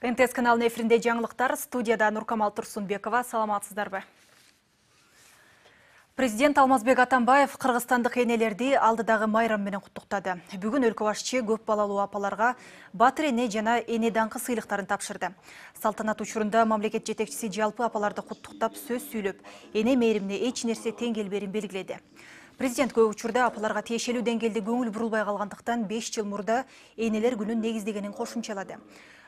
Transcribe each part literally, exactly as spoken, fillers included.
эн тэ эс каналынын эфиринде жаңылыктар, студияда Нуркамал Турсунбекова. Саламатсыздарбы? Президент Алмазбек Атамбаев кыргызстандык энелерди алдыдагы майрам менен куттуктады. Бүгүн өлкө башчы көп балалуу апаларга батыр эне жана эне даңкы сыйлыктарын тапшырды. Салтанат учурунда мамлекет жетекчиси жалпы апаларды куттуктап сөз сүйлөп, эне мээримине эч нерсе тең келберин белгиледи. Президент көп учурда апаларга тиешелүү деңгээлде көңүл бурулбай калгандыктан беш жыл мурда энелер күнүн негиздегенин кошумчалады.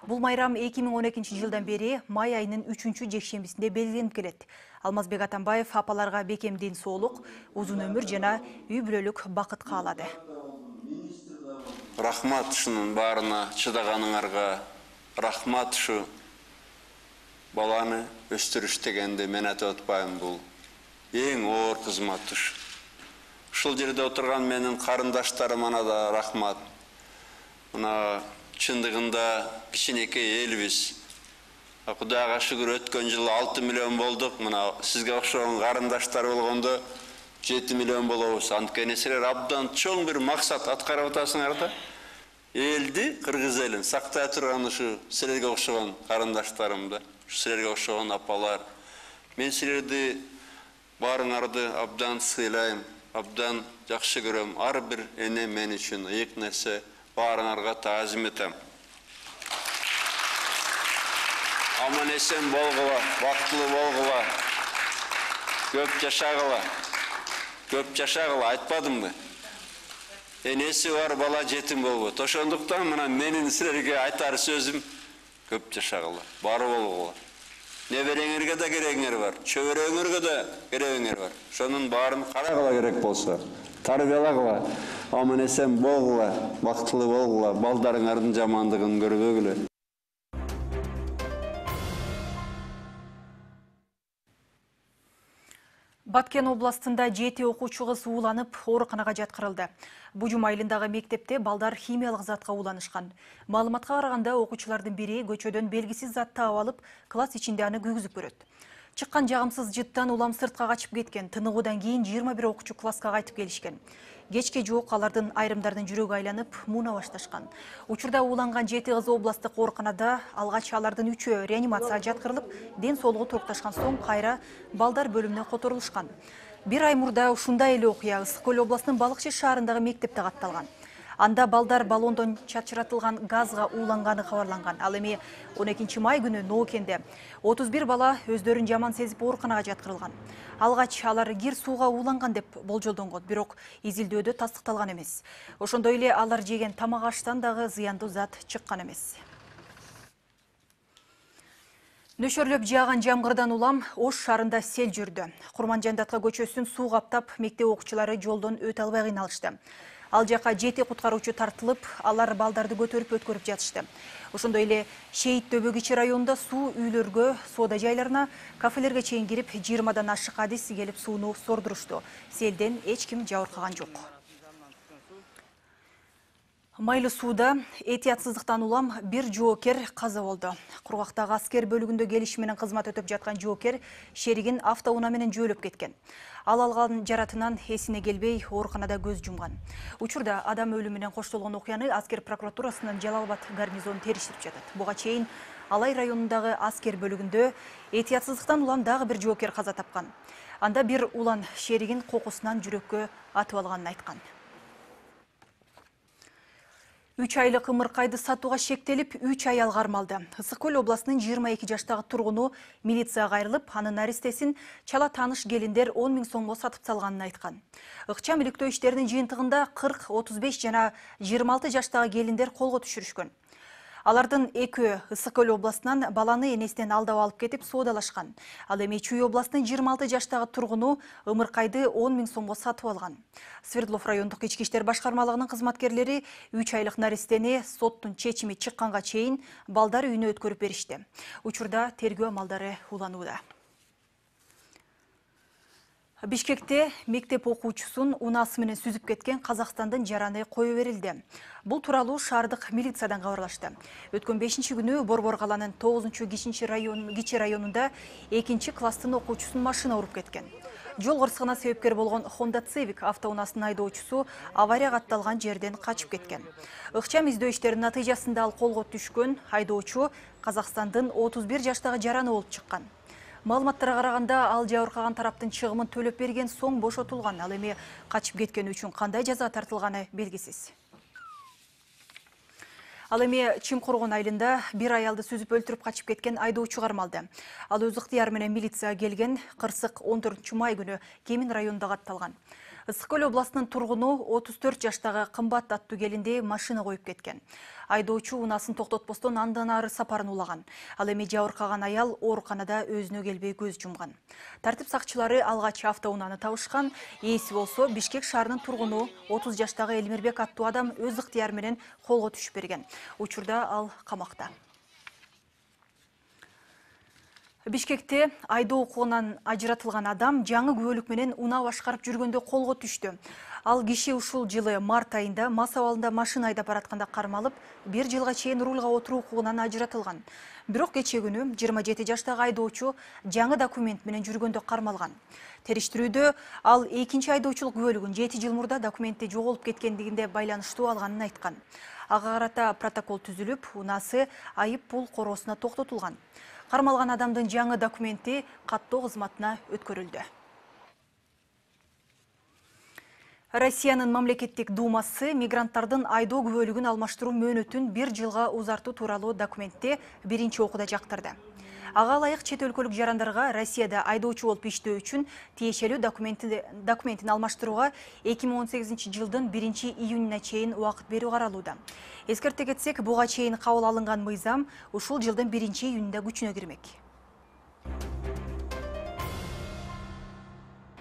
Бул майрам эки миң он экинчи жылдан бери май айынын үчүнчү жекшембисинде белгиленип келет. Алмазбек Атамбаев апаларга бекемдин соолук, узун өмүр жана үй бүлөлүк бакыт каалады. Рахмат ушунун баарына чыдаганыңарга, рахмат ушу баланы өстүрүш дегенди мен айтып атпайм, бул эң оор кызмат ушу. Ушул жерде отурган менин карындаштарыма да рахмат. Мына чындыгында кичинекей элбиз. Кудайга шүгүр өткөн жылы алты миллион болдук. Мына сизге окшогон карындаштар болгондо жети миллион болобуз. Анткени силер абдан чоң бир максат аткарып атасыңар да. Элди, кыргыз элин сактай турган ушу силерге окшогон карындаштарым да, силерге окшогон апалар. Мен силерди баарыңарды абдан сыйлайм, абдан жакшы көрөм. Ар бир эне мен үчүн ыйык нерсе. Баарыңарга таазим этем. Аман эсен болгула, бактылуу болгула, көп жашагыла, көп жашагыла, айтпадымбы? Энеси бар бала жетим болбойт. Ошондуктан мына менин силерге айтар сөзүм көп жашагыла, бар болгула. Небереңерге да керегиңер бар, чөбөрөңөргө да керегиңер бар. Ошонун баарын карагыла керек болсо, тарбиялагыла, аман эсен болгула, бактылуу болгула, балдарыңардын жамандыгын көрбөгүлө. Баткен областында жети окуучу кыз ууланып, ооруканага жаткырылды. Бужум айылындагы мектепте балдар химиялык затка ууланышкан. Маалыматка караганда окуучулардын бири көчөдөн белгисиз затты таап алып, класс ичинде аны күйгүзүп көрөт. Чыккан жагымсыз жыттан улам сыртка качып кеткен. Тыныгуудан кийин жыйырма бир окуучу класска кайтып келишкен. Кечке жок алардын айрымдардын жүрөгү айланып, мууна башташкан. Учурда ууланган жети кыз областтык ооруканада, алгач алардын үчөө реанимацияга жаткырылып, ден соолугу турукташкан соң кайра балдар бөлүмүнө которулушкан. Бир ай мурда ушундай эле окуя Ысык Көл областынын Балыкчы шаарындагы мектепте катталган. Анда балдар баллондон чачыратылган газга ууланганы кабарланган. Ал эми он экинчи май күнү Ноокенде отуз бир бала өздөрүн жаман сезип ооруканага жаткырылган. Алгач алар кир сууга ууланган деп болжолдонгон, бирок изилдөөдө тастыкталган эмес. Ошондой эле алар жеген тамак аштан дагы зыяндуу зат чыккан эмес. Нөшөрлөп жааган жамгырдан улам Ош шаарында сел жүрдү. Курманжандатка көчөсүн суу каптап, мектеп окуучулары жолдон өтө албай кыйналышты. Ал жака жети куткаруучу тартылып, алар балдарды көтөрүп өткөрүп жатышты. Ошондой эле Шейит Дөбө кичи районунда суу үйлөргө, соода жайларына, кафелерге чейин кирип, жыйырмадан ашык адис келип сууну сордурушту. Селден эч ким жабыркаган жок. Майлы сууда этиятсыздыктан улам бир жоокер каза болду. Кургактагы аскер бөлүгүндө келиши менен кызмат өтөп жаткан жоокер шеригин автоунаа менен жөөлөп кеткен. Ал алган жаратынан эсине келбей, ооруканада көз жумган. Учурда адам өлүмүнөн коштолгон окуяны аскер прокуратурасынын Жалал Абад гарнизону териштирип жатат. Буга чейин Алай районундагы аскер бөлүгүндө этиятсыздыктан улам дагы бир жоокер каза тапкан. Анда бир улан шеригин кокусунан жүрөккө атып алганын айткан. үч айлык ымыркайды сатууга шектелип, үч ай алгармалды. Ысык Көл областынын жыйырма эки жаштагы тургуну милицияга кайрылып, анын наристесин чала тааныш келиндер он миң сомго сатып салганын айткан. Ыкчам иликтөө иштеринин жыйынтыгында кырк, отуз беш жана жыйырма алты жаштагы келиндер колго түшүрүшкөн. Алардын экөө Ысык Көл областынан баланы энесинен алдап алып кетип соодалашкан. Ал эми Чүй областынын жыйырма алты жаштагы тургуну ымыркайды он миң сомго сатып алган. Свердлов райондук ички иштер башкармалыгынын кызматкерлери үч айлык наристени соттун чечими чыкканга чейин балдар үйүнө өткөрүп беришти. Учурда тергөө амалдары уланууда. Бишкекте мектеп окуучусун унаасы менен сүзүп кеткен Казакстандын жараны кое берилди. Бул тууралуу шаардык милициядан кабарлашты. Өткөн бешинчи күнү Борбор каланын тогузунчу кичинчи район кичи районунда экинчи класстын окуучусун машина уруп кеткен. Жол кырсыгына себепкер болгон Honda Civic автоунаасынын айдоочусу авария катталган жерден качып кеткен. Ыкчам издөө иштеринин натыйжасында ал колго түшкөн. Айдоочу Казакстандын отуз бир жаштагы жараны болуп чыккан. Маалыматтарга караганда, ал жабыркаган тараптын чыгымын төлөп берген соң бошотулган. Ал эми качып кеткени үчүн кандай жаза тартылганы белгисиз. Ал эми Чимкоргон айылында бир аялды сүзүп өлтүрүп качып кеткен айдоочу кармалды. Ал өз ыктыяры менен милицияга келген. Кырсык он төртүнчү май күнү Кемин районунда катталган. Ысык көл областынын тургуну отуз төрт жаштагы Кымбат аттуу келинди машина коюп кеткен. Айдоочу унаасын токтотпостон андан ары сапарын улаган. Ал эми жабыркаган аял ооруканада өзүнө келбей көз жумган. Тартип сакчылары алгач автоунааны табышкан. Ээси болсо Бишкек шаарынын тургуну отуз жаштагы Элмирбек аттуу адам өз ыктыяры менен колго түшүп берген. Учурда ал камакта. Бишкекте айдоо укугунан ажыратылган адам жаңы күбөлүк менен унаа башкарып жүргөндө колго түштү. Ал киши ушул жылы март айында мас абалында машина айдап баратканда кармалып, бир жылга чейин рулга отуруу укугунан ажыратылган. Бирок кечээ күнү жыйырма жети жаштагы айдоочу жаңы документ менен жүргөндө кармалган. Териштирүүдө ал экинчи айдоочулук күбөлүгүн жети жыл мурда документи жоголуп кеткендигинде байланыштуу алганын айткан. Ага карата протокол түзүлүп, унаасы айып пул короосуна токтотулган. Кармалган адамдын жаңы документи каттоо кызматына өткөрүлдү. Россиянын мамлекеттик думасы мигранттардын айдоо күбөлүгүн алмаштыруу мөөнөтүн бир жылга узартуу тууралуу документти биринчи окууда жактырды. Ага ылайык чет өлкөлүк жарандарга Россияда айдоочу болуп иштөө үчүн тиешелүү документин алмаштырууга эки миң он сегизинчи жылдын биринчи июнуна чейин убакыт берүү каралууда. Эскерте кетсек, буга чейин кабыл алынган мыйзам ушул жылдын биринчи июнунда күчүнө кирмек.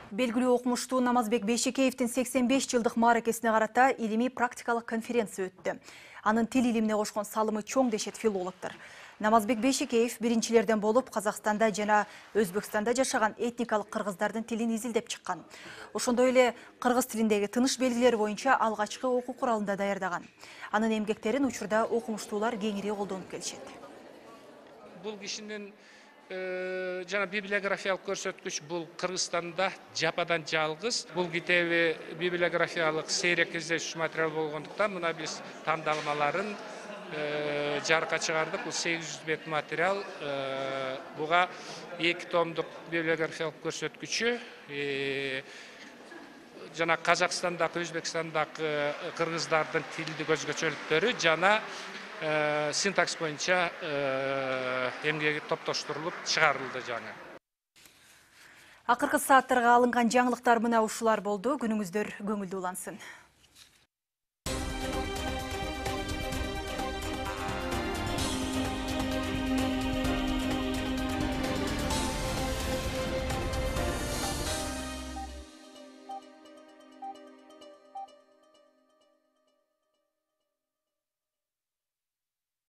Белгилүү окумуштуу Намазбек Бейшекеевдин сексен беш жылдык мааракесине карата илимий практикалык конференция өттү. Анын тил илимине кошкон салымы чоң дешет филологдор. Намазбек Бейшекеев биринчилерден болуп Казакстанда жана Өзбекстанда жашаган этникалык кыргыздардын тилин изилдеп чыккан. Ошондой эле кыргыз тилиндеги тыныш белгилери боюнча алгачкы окуу куралында даярдаган. Анын эмгектерин учурда окумуштуулар кеңири колдонуп келишет. Бул кишинин жана библиографиялык көрсөткүч бул Кыргызстанда жападан жалгыз. Бул китеби библиографиялык сейрек издешүү материал болгондуктан мына биз тандалмаларын жарыкка чыгардык. Бул сегиз жүз бет материал. Буга эки томдук библиографиялык көрсөткүчү жана Казакстандагы, Өзбекстандагы кыргыздардын тилдик өзгөчөлүктөрү жана синтакс боюнча эмгеги топтоштурулуп чыгарылды жаңы. Акыркы сааттарга алынган жаңылыктар мына ушулар болду. Күнүңүздөр көңүлдүү улансын.